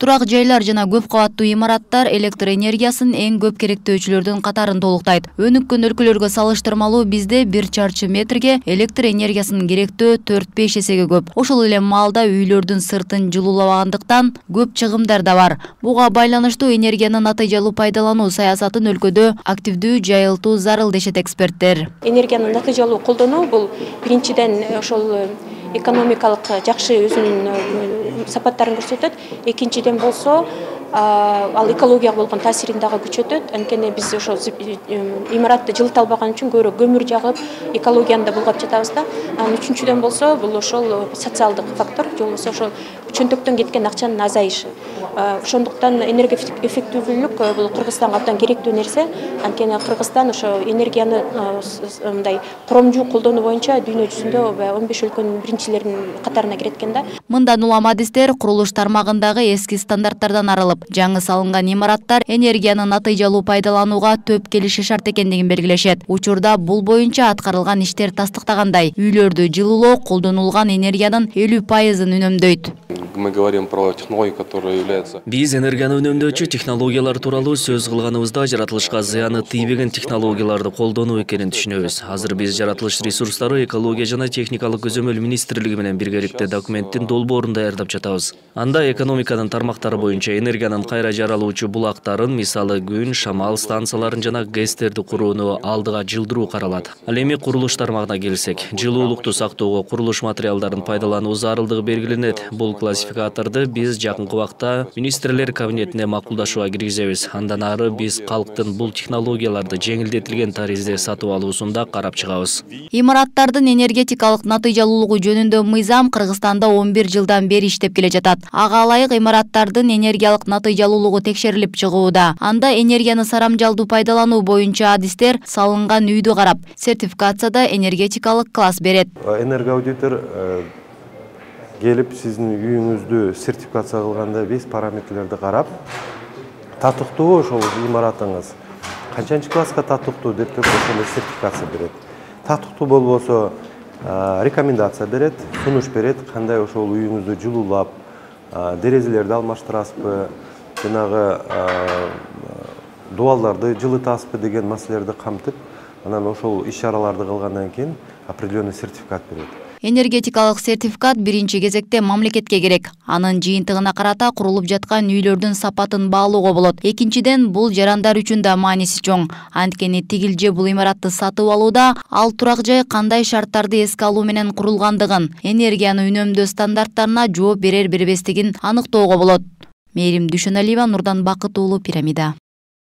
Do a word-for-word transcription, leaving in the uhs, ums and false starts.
Турак жайлар жана көп кабаттуу имараттар электр энергиясын эң көп керектөөчүлөрдүн катарын толуктайт. Өнүккөн өлкөлөргө салыштырмалуу бизде бир чарчы метрге электр энергиясынын керектөө төрт-беш эсеге көп. Ошол эле маалда үйлөрдүн сыртын жылуулабагандыктан көп чыгымдар да бар. Буга байланыштуу энергияны натыйжалуу пайдалануу саясатын өлкөдө активдүү жайылтуу зарыл дешет эксперттер. Энергияны натыйжалуу колдонуу бул биринчиден ошол экономикалык жакшы өзүнүн сапаттарын көрсөтөт. Экинчиден болсо ал экологияга болгон таасирин дагы күчөтөт. Анткени биз ошо имаратты жылыта албаган үчүн көбүрөөк көмүр жагып, экологияны да булгап жатабыз да. Анан үчүнчүдөн болсо бул ошол социалдык фактор, же болбосо ошол чөнтөктөн кеткен акчанын азайышы. Ошондуктан энергия эффективдүүлүк бул Кыргызстанга абдан керектүү нерсе. Анткени Кыргызстан ошо энергияны мындай коромжу колдонуу боюнча дүйнө жүзүндө он беш өлкөнүн биринчилеринин катарына кирет экен да. Мындан улам адистер курулуш тармагындагы эски стандарттардан арылып, жаңы салынган имараттар энергияны натыйжалуу пайдаланууга төп келиши шарт экендигин белгилешет. Учурда бул боюнча аткарылган иштер тастыктагандай, үйлөрдү жылуулоо колдонулган энергиянын элүү пайызын үнөмдөйт. Мы говорим про технологии, которые являются. Биз энергияны үнөмдөөчү технологиялар тууралуу сөз кылганыбызда жаратылышка зыяны тийбеген технологияларды колдонуу экенин түшүнөбүз. Азыр биз жаратылыш ресурстары экология жана техникалык көзөмөл министрлиги менен биргеликте документтин долбоорун даярдап жатабыз. Анда экономиканын тармактары боюнча энергиянын кайра жаралуучу булактарын, мисалы күн, шамал станцияларын жана ГЭСтерди курууну алдыга жылдыруу каралат. Ал эми курулуш тармагына келсек, жылуулукту сактоого курулуш материалдарын пайдалануу зарылдыгы белгиленет. Бул классификаторду биз жакынкы убакта министрлер кабинетине макулдашууга киргизебиз. Андан ары биз калктын бул технологияларды жеңилдетилген таризде сатып алуусунда карап чыгабыз. Имараттардын энергетикалык натыйжалуулугу жөнүндө мыйзам Кыргызстанда он бир жылдан бери иштеп келе жатат. Ага ылайык имараттардын энергиялык натыйжалуулугу текшерилип чыгууда. Анда энергияны сарамжалдуу пайдалануу боюнча адистер салынган үйдү карап, сертификацияда энергетикалык класс берет. Энергоаудитор келип сиздин үйүңүздү сертификация кылганда беш параметрлерди карап, татыктуу ошол имаратыңыз канчанчы класска татыктуу деп туруп ошондой сертификация берет. Татыктуу болбосо рекомендация берет, сунуш берет, кандай ошол үйүңүздү жылуулап, дерезелерди алмаштырасызбы, жанагы дубалдарды жылытасызбы деген маселелерди камтып, анан ошол иш-чараларды кылгандан кийин определенный сертификат берет. Энергетикалык сертификат биринчи кезекте мамлекетке керек. Анын жыйынтыгына карата курулуп жаткан үйлөрдүн сапатын баалоого болот. Экинчиден, бул жарандар үчүн да мааниси чоң. Анткени тигил же бул имаратты сатып алууда ал турак жай кандай шарттарды эске алуу менен курулгандыгын, энергияны үнөмдөө стандарттарына жооп берер бербестигин аныктоого болот. Мээрим Дүйшөналиева, Нурдан Бакыт уулу, Пирамида.